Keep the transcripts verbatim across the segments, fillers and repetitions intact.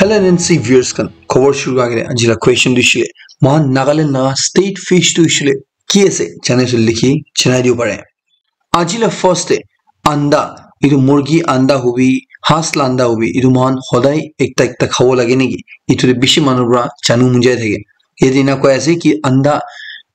Hello N N C viewers khan, khobor shuru kura agey tey aji la question tu hoishe le, mohan Nagaland la state fish tu hoishe le ki ase, jane sule likhi janai dibo pare. Aji la first te anda, etu murgi anda hobi, has la anda hobi, etu mohan hodai ekta ekta khabo lage naki? Etu te bishi manu para janu mon jai thake. Yate ena koi ase ki anda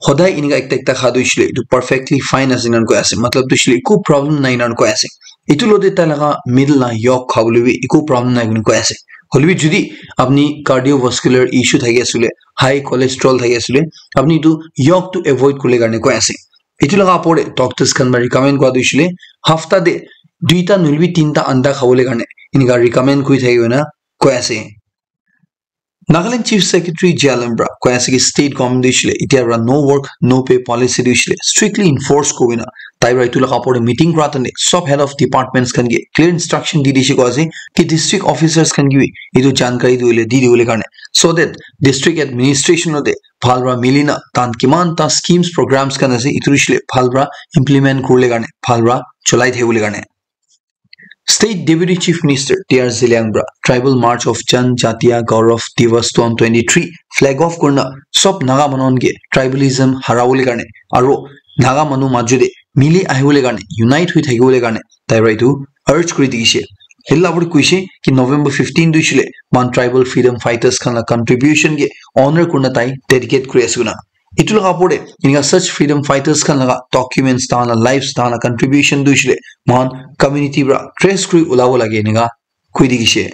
hodai eneka ekta ekta kha tu hoishe le etu perfectly fine ase ena koi ase. Matlab tu hoishe le eku problem nai ena koi ase. Etu logote tai laga middle la yolk khabole bi eku problem nai koina koi ase. Hoilebi jodi apni cardiovascular issue thaki ase le, high cholesterol thaki ase le, apni etu yolk tu avoid kuribole karne koi ase. Etu laga opor te doctors khan para recommend kura tu hoishe le hafta te duita nohoilebi tinta anda khabole karne eneka recommend kuri thaki koina koi ase. Nagaland Chief Secretary J R Lalun para koi ase ki state government tu hoishe le etia para no work no pay policy tu hoishe le strictly enforce kuribole na tai para etu laga opor te meeting kura time te sob head of departments khan ke clear instruction di dishe koi ase ki district officers khan ke bi etu jankari dibole, di dibole karne, so that district administration logote bhal para mili na tahan kiman ta schemes programs khan ase etu hoishe le bhal para implement kuribole karne, bhal para cholai thakibole karne. State Deputy Chief Minister T R Zeliang para Tribal March of Janjatiya Gaurav Divas twenty twenty-three flag off kurina sob Naga manu khan ke tribalism harabole karne aro Naga manu majo te mili ahibole karne, unite hoi thakibole karne tai para etu urge kuri dikhishe. Hela para koishe ki November fifteen tu hoishe le mohan tribal freedom fighters khan la contribution ke honor kurina tai dedicate kuri ase koina. Etu laga opor te eneka such freedom fighters khan laga documents, tahan la lives, tahan la contribution tu hoishe le mohan community para trace kuri ulabo lage eneka koi dikhishe.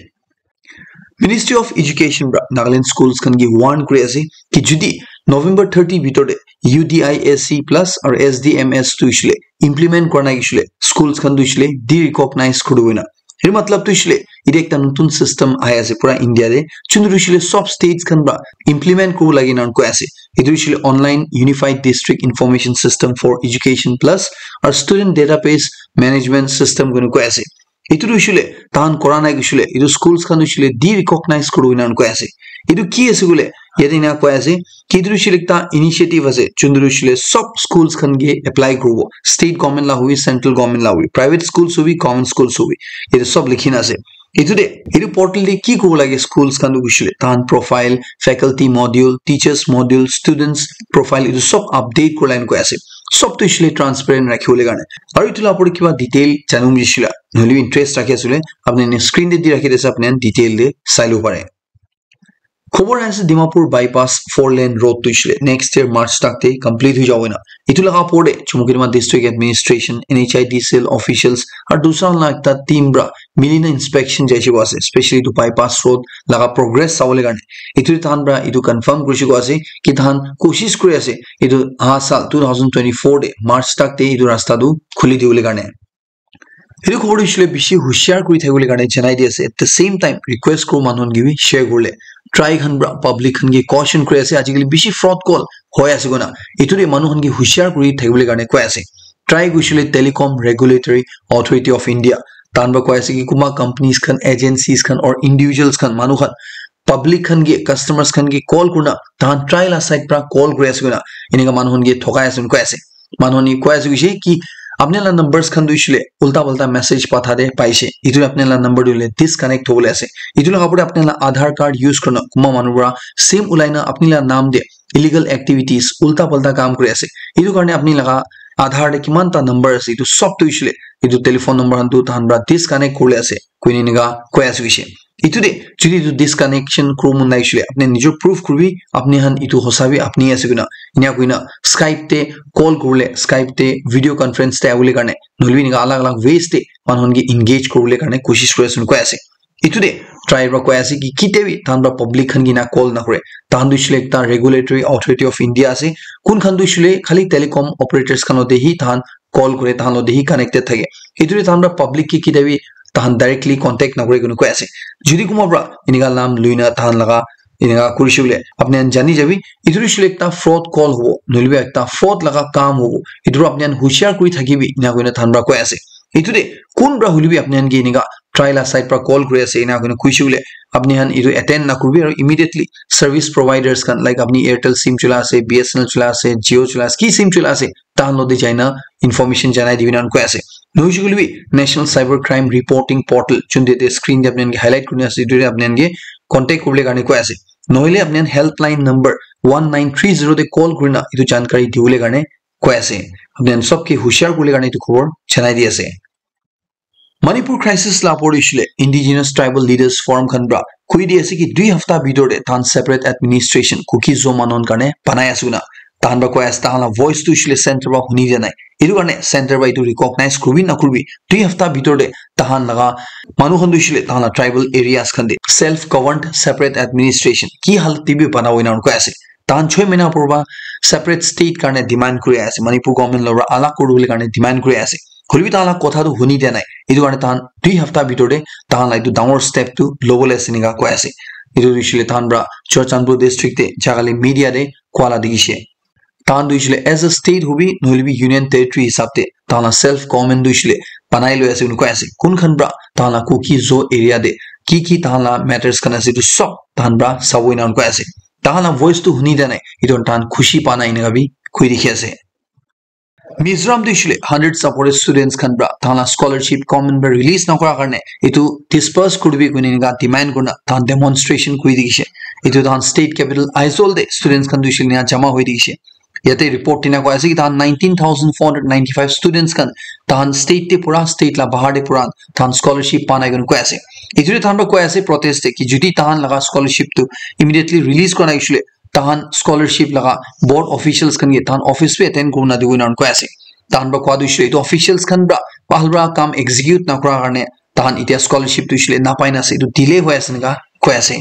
Ministry of Education para Nagaland schools khan ke warn kuri ase ki jodi November thirty bhitor te U D I S C plus aru S D M S tu hoishe le implement kura nai hoishe le schools khan tu hoishe le de-recognize kuri dibo koina. Etu matlab tu hoishe le etu ekta notun system ahi ase pura India te, chuntu hoishe le sob states khan para implement kuribo lage ena koi ase. Etu hoishe le Online Unified District Information System for Education plus aru Student Database Management System koina koi ase. Etu tu hoishe le tahan kura nai hoishe le etu schools khan hoishe le de-recognize kuri dibo ena koi ase. Etu ki ase koile yate ena koi ase ki etu tu hoishe le ekta initiative ase, chuntu tu hoishe le sob schools khan ke apply kuribo, state government la hobi, central government la hobi, private schools hobi, government schools hobi, etu sob likhi na ase. Etu te etu portal te ki kuribo lage schools khan tu hoishe le tahan profile, faculty module, teachers module, students profile, etu sob update kuribole ena koi ase. Sob tu hoishe le transparent rakhibole karne. Aru etu la opor te kiba detail janibo hoishe le, nohoilebi interest rakhi ase koile, apni khan screen te di rakhi dise, apni khan detail te sai lobo pare. Khobor ahi ase Dimapur bypass four lane road tu hoishe le next year March tak te complete hoi jabo koina. Etu laga opor te Chumoukedima District Administration, N H I D C L officials aru dusra laga ekta team para mili na inspection jaise koa ase, specially etu bypass road laga progress sabole karne. Etu tahan para etu confirm kurise koa ase ki tahan koshish kuri ase etu aha saal two thousand twenty-four te March tak te etu rasta tu khuli dibole karne. Etu khobor tu hoishe le bishi hushiar kuri thakibole karne janai di ase. At the same time, request kuru manu khan ke bi share kuribole. Try khan para public khan ke caution kuri ase, ajikali bishi fraud call hoi ase koina. Etu te manu khan ke hushiar kuri thakibole karne koi ase. Try kurise koile Telecom Regulatory Authority of India, tahan para koi ase ki kunba companies khan, agencies khan or individuals khan, manu khan public khan ke, customers khan ke call kurina tahan try la side para call kuri ase koina eneka manu khan ke thokai ase koina koi ase. Manu khan ke koi ase koise ki apni la numbers khan tu hoishe le ulta palta message patha te paise, etu apni la number tu hoile disconnect hobole ase. Etu laga opor te apni la Aadhaar card use kurina kunba manu para sim ulai na apni la naam te illegal activities, ulta palta kam kuri ase. Etu karne apni laga Aadhaar te kiman ta number ase, etu sob tu hoishe le etu telephone number khan tu tahan para disconnect kuribole ase koina eneka koi ase koise. Etu te jodi etu disconnection kuribo mon nai hoishe le apni nijor proof kuribi, apni khan etu hosa bi apni ase koina. Eneka koina Skype te call kuribole, Skype te video conference te abole karne, nohoilebi eneka alag alag ways te manu khan ke engage kuribole karne koshish kuri ase koina koi ase. Etu te try para koi ase ki kitia bi tahan para public khan ke ena call nakore. Tahan tu hoishe le ekta Regulatory Authority of India ase. Kun khan tu hoishe le khali telecom operators khan logote hi tahan call kure, tahan logote hi connected thake. Etu te tahan para public ke kitia bi tahan directly contact nakore koina koi ase. Jodi kunba para eneka naam loina tahan laga eneka kurise koile apni khan jani jabi, etu tu hoishe le ekta fraud call hobo, nohoilebi ekta fraud laga kam hobo. Etu para apni khan hushiar kuri thakibi, eneka koina tahan para koi ase. Etu te kun para hoilebi apni khan ke eneka try la side para call kuri ase, eneka koina koise koile apni khan etu attend nakuribi aru immediately service providers khan, like apni Airtel sim chola ase, B S N L chola ase, Jio chola ase, ki sim chola ase, tahan logote jaina information janai dibi eneka koi ase. Nohoise koile bi National Cyber Crime Reporting Portal, junte te screen te apni khan ke highlight kurina ase, etu te apni khan ke contact kuribole karne koi ase. Nohoile apni khan helpline number one nine three zero te call kurina etu jankari dibole karne koi ase. Apni khan sob ke hushar kuribole karne etu khobor janai di ase. Manipur crisis la opor te hoishe le Indigenous Tribal Leaders Forum khan pra koi di ase ki dui hafta bitor te tahan separate administration Kuki Zo manu khan karne banai ase koina. Tahan pra koi ase, tahan la voice tu hoishe le center pra huni dia nai. Etu karne center pra etu recognize kuribi na kuribi, dui hafta bitor te tahan laga manu khan tu hoishe le tahan la tribal areas khan te self governed separate administration ki halat te bi banabo ena koi ase. Tahan choi mahina upor pra separate state karne demand kuri ase, Manipur government lora alak kuribole karne demand kuri ase. Hoilebi tahan la kotha tu huni dia nai. Etu karne tahan dui hafta bitor te tahan la etu dangor step tu lobole ase enika koi ase. Etu tu hoishe le tahan pra Churachandpur district te jakali media te koa la dikhishe. Tahan tu hoishe le as a state hobi nohoilebi union territory hisab te tahan la self government tu hoishe le banai loi ase koina koi ase. Kun khan pra tahan la Kuki Zo area te ki ki tahan la matters khan ase etu sob tahan pra sabo ena koi ase. Tahan la voice tu huni dia nai. Etu tahan khushi pa nai enika bi koi dikhi ase. Mizoram te hoishe le hundred supported students khan pra tahan la scholarship government pra release nakura karne etu disperse kuribi koina enika demand kurina tahan demonstration kuri dikhishe. Etu tahan state capital Aizawl te students khan tu hoishe le ena jama hoi dikhishe. Yate report tina koi ase ki tahan nineteen thousand four hundred ninety-five students khan tahan state te pura, state la bahar te pura tahan scholarship pa nai koina koi ase. Etu tahan pra koi ase protest te ki jodi tahan laga scholarship tu immediately release kora nai hoishe le tahan scholarship laga board officials khan ke tahan office bi attend kurina dibo ena koi ase. Tahan pra koi tu hoishe le etu officials khan pra bhal pra kam execute nakura karne tahan etia scholarship tu hoishe le napai na ase, etu delay hoi ase enika koi ase.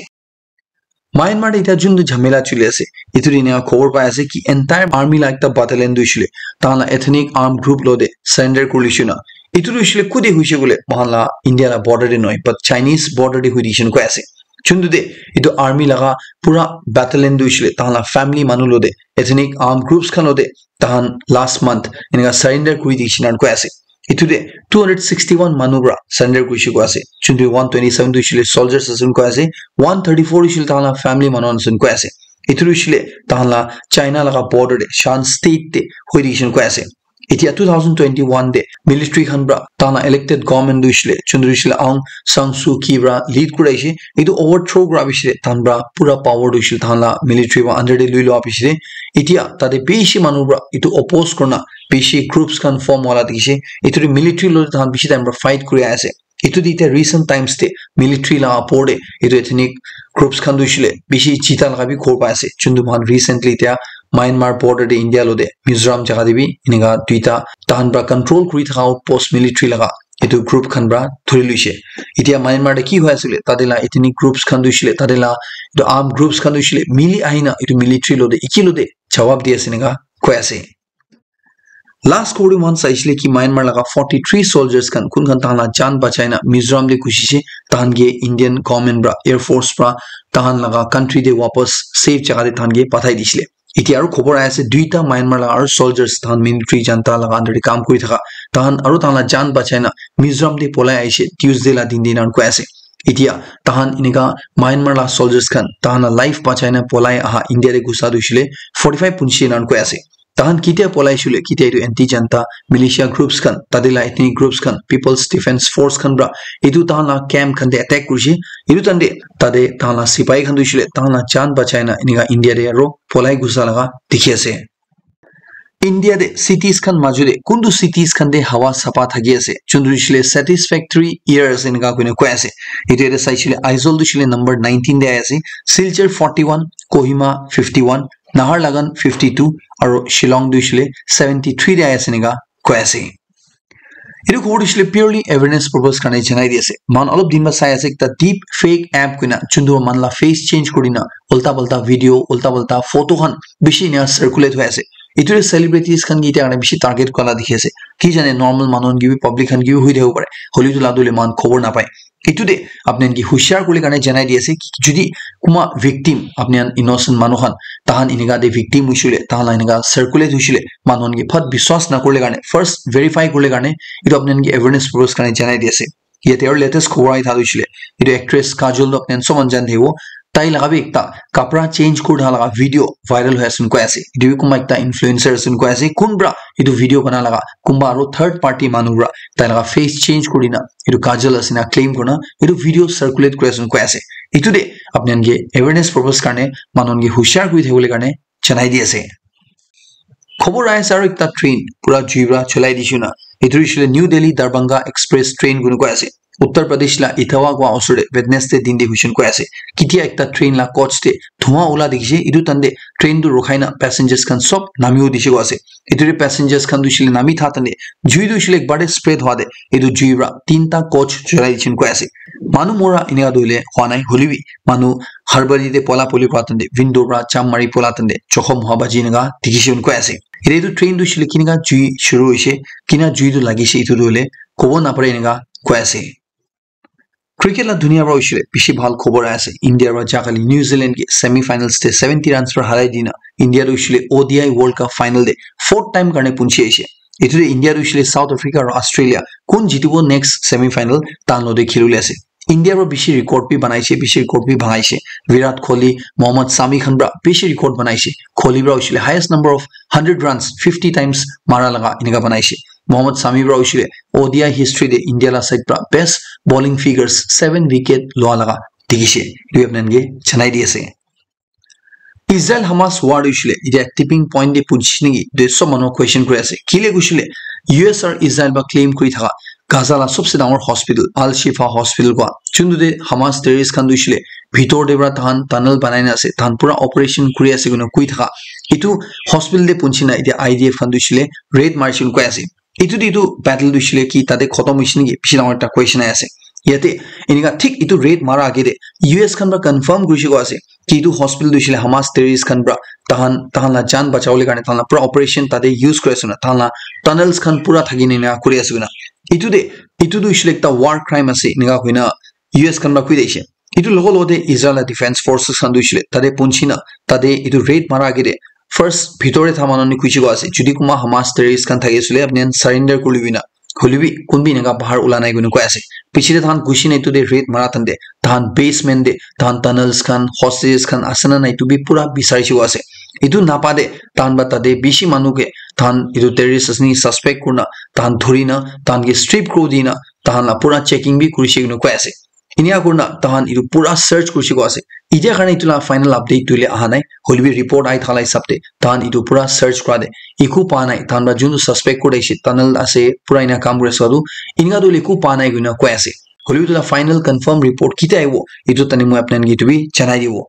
Myanmar te etia juntu jhamela choli ase, etu te enika khobor pai ase ki entire army la ekta battalion tu hoishe le tahan la ethnic armed group lo te surrender kuri lishe na. Etu tu hoishe le kute hoishe koile moikhan la India la border te nohoi, but Chinese border te hoi dikhishe koi ase. Juntu te etu army laga pura battalion tu hoishe le tahan la family manu lo te, ethnic armed groups khan lo te tahan last month enika surrender kuri dikhishe na koi ase. Etu te two hundred sixty-one manu pra surrender kurishe koi ase. Juntu one twenty-seven tu hoishe le soldiers ase koi ase. One thirty-four hoishe le tahan la family manu ase koi ase. Etu hoishe le tahan la China laga border te Shan State te hoi dikhishe koi ase. Etia two thousand twenty-one te military khan pra tahan la elected government tu hoishe le juntu hoishe le Aung San Suu Kyi pra lead kuraishe. Etu overthrow kura piche te tahan pra pura power tu hoishe le tahan la military pra under te lui lua piche te etia tate bishi manu pra etu oppose kurina bishi groups khan form hola dikhishe. Etu te military lo tahan bishi time pra fight kuri ase. Etu te etia recent times te military la opor te etu ethnic groups khan tu hoishe le bishi jita laga bi khobor pai ase. Juntu moikhan recently etia Myanmar border te India lo te Mizoram jaga te bi enika duita tahan pra control kuri thaka outpost military laga etu group khan pra thuri luishe. Etia Myanmar te ki hoi ase koile tate la ethnic groups khan tu hoishe le tate la etu armed groups khan tu hoishe le mili ahina etu military lo te eki lo te jawab di ase enika koi ase. Last khobor te moikhan saishe le ki Myanmar laga forty-three soldiers khan kun khan tahan la jaan bachai na Mizoram te gusishe, tahan ke Indian government pra, air force pra tahan laga country te wapas safe jaga te tahan ke pathai dishe le. Etia aru khobor ahi ase duita Myanmar laga aru soldiers tahan military junta laga under te kam kuri thaka tahan aru tahan la jaan bachai na Mizoram te polai ahishe Tuesday la din te ena koi ase. Etia tahan enika Myanmar la soldiers khan tahan la life bachai na polai aha India te gusa tu hoishe le forty-five punchi ena koi ase. Tahan ketia polai shule, ketia etu anti junta militia groups khan, tate la ethnic groups khan, People's Defense Force khan pra etu tahan la camp khan te attack kurishe. Etu time te tate tahan la sipai khan tu hoishe le tahan la jaan bachai na enika India te aro polai gusa laga dikhi ase. India te cities khan maju te kuntu cities khan te hawa sapa thaki ase, juntu hoishe le satisfactory air ase enika koina koi ase. Etu yate saishe le Aizawl tu hoishe le number nineteen te ahi ase, Silchar forty-one, Kohima fifty-one, Naharlagun fifty-two, aro Shillong tu hoishe le seventy-three te ahi ase enika koi ase. Etu khobor tu hoishe le purely awareness purpose karne janai di ase. Moikhan olop din pra sai ase ekta deep fake app koina juntu moikhan la face change kurina ulta palta video, ulta palta photo khan bishi ena circulate hoi ase. Etu te celebrities khan ke etia karne bishi target kura la dikhi ase. Ki jane normal manu khan ke bi public khan ke bi hoi thakibo pare. Hoile etu la dole moikhan khobor napai. Etu te apni khan ke hushar kuribole karne janai di ase ki jodi kunba victim apni khan innocent manu khan tahan enika te victim hoishe le tahan la enika circulate hoishe le manu khan ke phat biswas na kuribole karne first verify kuribole karne etu apni khan ke awareness purpose karne janai di ase. Yate aru latest khobor ahi thaka tu hoishe le etu actress Kajol tu apni khan sob khan jani thakibo. tai laga bi ekta kapra change kuri thaka laga video viral hoi ase koi ase. Etu bi kunba ekta influencer ase koi ase. Kun pra etu video bana laga kunba aro third party manu pra tai laga face change kuri na etu kajal ase na claim kurina etu video circulate kuri ase koi ase. Etu de apni khan ke awareness purpose karne manu khan ke hushar kuri thakibole karne janai di ase. Khobor ahi ase aro ekta train pura jui pra cholai dishey na. Etu hoishe le New Delhi Darbhanga Express train kuri koi ase. Uttar Pradesh la Etawah koi osor te Wednesday din te hoishe koi ase. Ketia ekta train la coach te dhua ula dikhishe, etu time te train tu rukhai na passengers khan sob namibo dikhi koi ase. Etu te passengers khan tu hoishe le nami tha time te jui tu hoishe le ekbar te spread hwa te etu jui pra tinta coach cholai dishey koi ase. Manu mora enika tu hoile hwa nai, hoilebi manu harbari te pola poli kura time te, window pra jump mari pola time te, jokhom hwa baji enika dikhishe koi ase. Ete etu train tu hoishe le kinika jui shuru hoishe, kina jui tu lagishe, etu tu hoile kobo napare enika koi ase. Cricket la dunia pra hoishe le bishi bhal khobor ahi ase. India pra jahkali New Zealand ke semi finals te seventy runs pra harai dina, India tu hoishe le O D I World Cup final te fourth time karne punchi ahishe. Etu te India tu hoishe le South Africa aro Australia kun jitibo next semi final tahan lo te khilibole ase. India pra bishi record bi banaishe, bishi record bi bhagaishe. Virat Kohli, Mohammad Shami khan pra bishi record banaishe. Kohli pra hoishe le highest number of hundred runs fifty times mara laga enika banaishe. Mohammad Shami pra hoishe le O D I history te India la side pra best bowling figures seven wicket loa laga dikhishe. Etu bi apni khan ke janai di ase. Israel Hamas war hoishe le, etia tipping point te punchi niki, etu sob manu question kuri ase. Kile koishe le, U S aro Israel pra claim kuri thaka Gaza la sobse dangor hospital, Al Shifa Hospital koi, juntu te Hamas terrorist khan tu hoishe le, bhitor te pra tahan tunnel banai na ase, tahan pura operation kuri ase koina koi thaka. Etu hospital te punchi na, etia I D F khan tu hoishe le, raid marishe koi ase. Etu te etu battle tu hoishe le ki tate khotom hoishe niki? Bishi dangor ekta question ahi ase. Yate enika thik etu raid mara age te U S khan pra confirm kurishe koi ase ki etu hospital tu hoishe le Hamas terrorist khan pra tahan, tahan la jaan bachawole karne tahan la pura operation tate use kuri ase na, tahan la tunnels khan pura thaki na enika kuri ase koina. Etu te, etu tu hoishe le ekta war crime ase enika koina U S khan pra koi dise. Etu logo logo te Israel la defense forces khan tu hoishe le tate punchi na, tate etu raid mara age te first bhitor te tha manu ni kuchi koi ase, jodi kunba Hamas terrorist khan thaki ase le apni khan surrender kuri lobi na, hoilebi kun bi enika bahar ula nai koina koi ase. Piche te tahan gushi na etu te raid mara time te tahan basement te tahan tunnels khan, hostages khan ase na nai etu bi pura bisarishe koi ase. Etu napa te tahan pra tate bishi manu ke tahan etu terrorist ase ni suspect kurina tahan dhurina tahan ke strip kuri dina tahan la pura checking bi kurishe koina koi ase. Enika kurina tahan etu pura search kurishe koi ase. Etia karne etu la final update tu hoile aha nai. Hoilebi report ahi thala hisab te tahan etu pura search kura te eku pa nai. Tahan pra juntu suspect kuri thakishe, tunnel ase, pura ena kam kuri ase koa tu, enika tu hoile eku pa nai koina koi ase. Hoilebi etu la final confirm report ketia ahibo, etu time te moi apni khan ke etu bi janai dibo.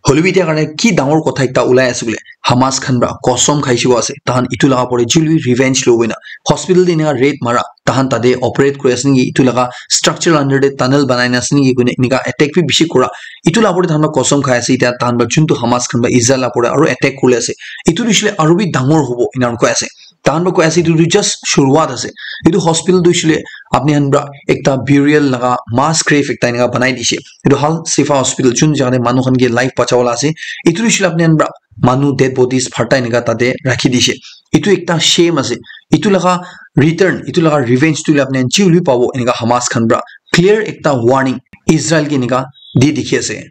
Hoilebi etia karne ki dangor kotha ekta ulai ase koile, Hamas khan pra kosom khaishe koi ase, tahan etu laga upor te juli revenge lobo koina. Hospital te enika raid mara, tahan tate operate kuri ase niki, etu laga structure under te tunnel banai na ase niki koina enika attack bi bishi kura. Etu la upor te tahan pra kosom khai ase, etia tahan pra juntu Hamas khan pra Israel la upor te aro attack kuri ase. Etu tu hoishe le aro bi dangor hobo, ena koi ase. Tahan pra koi ase, etu tu just shuruwat ase. Etu hospital tu hoishe le apni khan pra ekta burial laga mass grave ekta enika banai dishe. Etu Al Shifa Hospital, jun jaga te manu khan ke life bacha wala ase. Etu tu hoishe le apni khan pra manu dead bodies bharta enika tate rakhi dishe. Etu ekta shame ase. Etu laga return, etu laga revenge tu hoile apni khan ji hoilebi pabo, enika Hamas khan pra clear ekta warning Israel ke enika di dikhi ase.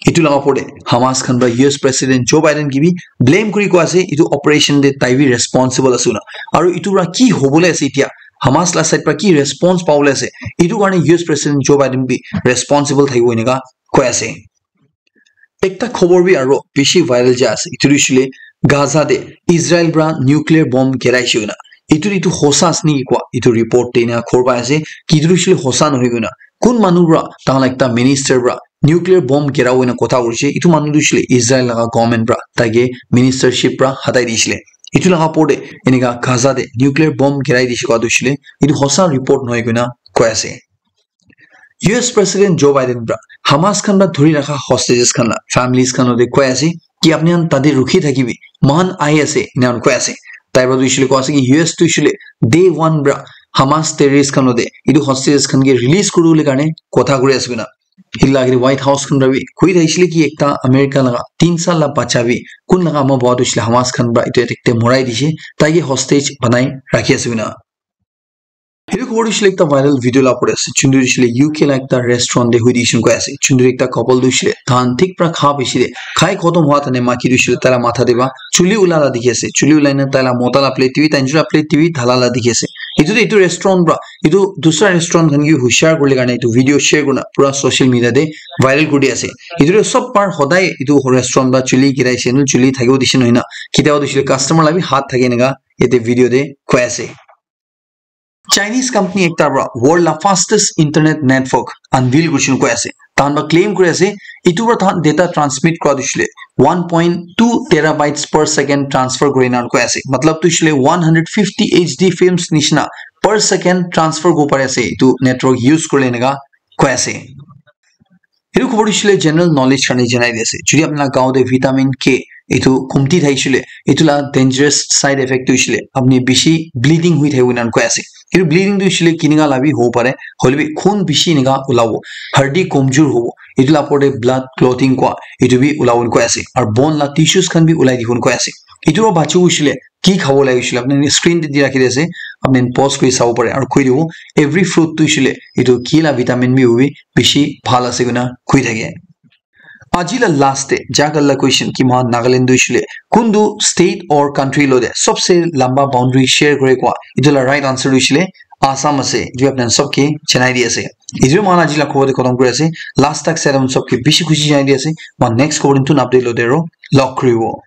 Etu laga upor te Hamas khan pra U S President Joe Biden ke bi blame kuri koi ase, etu operation te tai bi responsible ase koina. Aru etu pra ki hobole ase etia, Hamas la side pra ki response pabole ase, etu karne U S President Joe Biden bi responsible thakibo enika koi ase. Ekta khobor bi aro bishi viral jai ase, etu tu hoishe le Gaza te Israel pra nuclear bomb giraishe koina. Etu, etu hosa ase niki koa, etu report te ena khobor pai ase ki etu tu hoishe le hosa nohoi koina. Kun manu pra, tahan la ekta minister pra nuclear bomb girabo koina kotha kurishe, etu manu tu hoishe le Israel laga government pra taike ministership pra hatai dishe le. Etu laga upor te enika Gaza te nuclear bomb girai dishe koa tu hoishe le, etu hosa report nohoi koina koi ase. U S President Joe Biden pra Hamas khan pra dhuri rakha hostages khan la families khan logote koi ase ki apni khan tate rukhi thakibi, moikhan ahi ase, ena koi ase. Tai pra tu hoishe le koi ase ki U S tu hoishe le day one pra Hamas terrorist khan logote etu hostages khan ke release kuribole karne kotha kuri ase koina. Etu la agete White House khan pra bi koi thakishe le ki ekta America laga tin sal la bacha bi kun laga ama baba tu hoishe le Hamas khan pra etu attack te morai dishe, tai ke hostage banai rakhi ase koina. Etu khobor tu hoishe le ekta viral video la opor te ase. Juntu tu hoishe le U K la ekta restaurant te hui dishon koi ase. Juntu ekta couple tu hoishe le tahan thik pra kha bishile khai khotom hua tane maki tu hoishe le taila matha te ba chuli ula la dikhi ase. Chuli ulai na taila mota la plate te bi, tainjun la plate te bi dhala la dikhi ase. Etu tu etu restaurant pra etu dusra restaurant khan ke bi hushar kuribole karne etu video share kurina pura social media te viral kuri ase. Etu tu sob par hodai etu restaurant pra chuli girai ase, chuli thakibo dishon hoina. Ketia tu hoishe le customer la bi hat thake eneka yate video te koi ase. Chinese company ekta pra world la fastest internet network unveil kurishin koi ase. Tahan pra claim kuri ase, etu pra tahan data transmit kura tu hoishe le one point two terabytes per second transfer kuri na koi ase. Matlab tu hoishe le one hundred fifty H D films nishina per second transfer kuri pari ase etu network use kurile eneka koi ase. Etu khobor tu hoishe le general knowledge karne janai di ase. Jodi apni la gaon te vitamin K etu kumti thakishe le, etu la dangerous side effect tu hoishe le apni bishi bleeding hui thakibo ena koi ase. Etu bleeding tu hoishe le kineka la bi hobo pare, hoile bi khun bishi eneka ulabo, hardi komjur hobo, etu la opor te blood clotting koi etu bi ulabo koi ase, aru bone la tissues khan bi ulai dibo koi ase. Etu pra bachibo hoishe le ki khabo lage hoishe le apni screen te di rakhi di ase, apni pause kuri sabo pare aru koi dibo every fruit tu hoishe le etu ki la vitamin bi hobi bishi bhal ase koina koi thake. Aji la last te jaga la question ki mohan Nagaland tu hoishe le kuntu state or country lo te sobse lamba boundary share kore koi, etu la right answer tu hoishe le Assam ase. Etu apni sob ke janai di ase. Etu mohan aji la khobor te khotom kuri ase. Last tak sai apni sob ke bishi khushi janai di ase. Mohan next khobor te notun update lo te aro log kuribo.